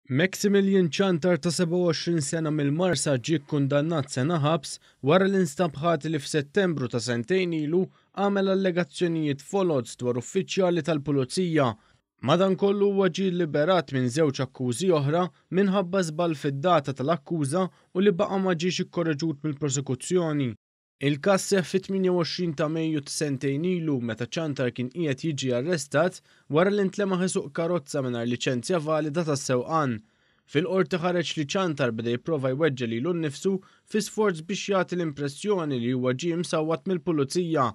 Maximilian Ciantar ta' 27 sena mill-Marsa ġie kkundannat sena ħabs wara li nstab ħati li f'Settembru ta' sentejn ilu għamel allegazzjonijiet foloz dwar uffiċjali tal-Pulizija. Madankollu huwa ġie lliberat minn żewġ akkużi oħra minħabba żball fid-data tal-akkuża u li baqa' ma ġiex ikkoreġut mill-prosekuzzjoni. Il-każ seħħ fit-28 ta' Mejju ta' sentejn ilu meta Ciantar kien qiegħed jiġi arrestat wara li ntlemaħ isuq karozza mingħajr liċenzja valida tas-sewqan. Fil-Qorti ħareġ li Ciantar beda jipprova jweġġa' lilu nnifsu fi sforz biex jagħti l-impressjoni li huwa ġie msawwat mill-Pulizija.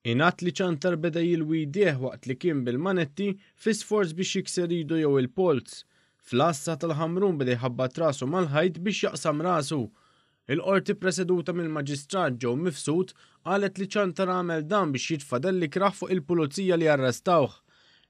Ingħad li Ciantar beda jilwi jdejh waqt li kien bil-manetti fi sforz biex jikser idu jew il-polz. Fl-għassa tal-Ħamrun beda jħabbat rasu mal-ħajt biex jaqsam rasu. Il-Qorti ppreseduta mill-Maġistrat Joe Mifsud qalet li Ciantar għamel dan biex jitfa' dell ikrah fuq il-pulizija li arrestawh.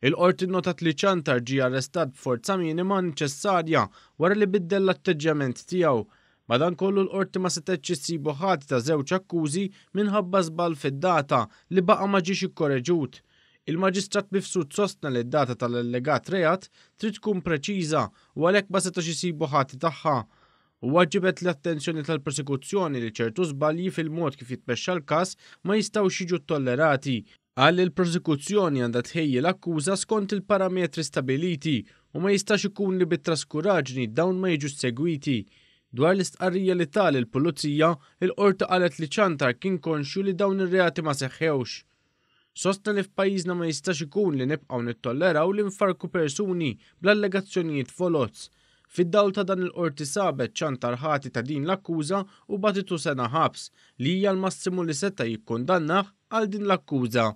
Il-Qorti nnotat li Ciantar ġie arrestat b'forza minima neċessarja wara li biddel l-atteġġjament tiegħu. Madankollu l-Qorti ma setgħetx issibu ħati ta' żewġ akkużi minħabba żball fid-data li baqa' ma ġiex ikkoreġut. Il-Maġistrat Mifsud sostna li d-data tal-allegat reat trid tkun preċiża u għalhekk ma setax isibu ħati tagħha. Huwa ġibed l-attenzjoni tal-prosekuzzjoni li ċertu żbalji fil-mod kif jitmexxa l-każ ma jistgħux jiġu ttollerati. Qal li l-prosekuzzjoni għandha tħejji l-akkuża skont il-parametri stabiliti u ma jistax ikun li bi traskuraġni dawn ma jiġux segwiti. Dwar l-istqarrija li ta lill-Pulizija, il-Qorti qalet li Ciantar kien konxju li dawn ir-reati ma seħħewx. Sostna li f'pajjiżna ma jistax ikun li nibqgħu nittolleraw li nfarrku persuni bl-allegazzjonijiet foloz. Fid-dawl ta' dan il-Qorti sabet Ciantar ħati ta' din l-akkuża u bagħtitu sena ħabs, li hija l-massimu li seta' jikkundannah għal din l-akkuża.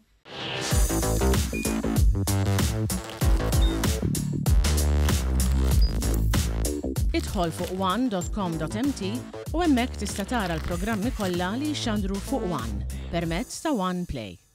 Idħol fuq one.com.mt u hemmhekk tista' tara l-programmi kollha li jixxandru fuq One permezz ta' One Play.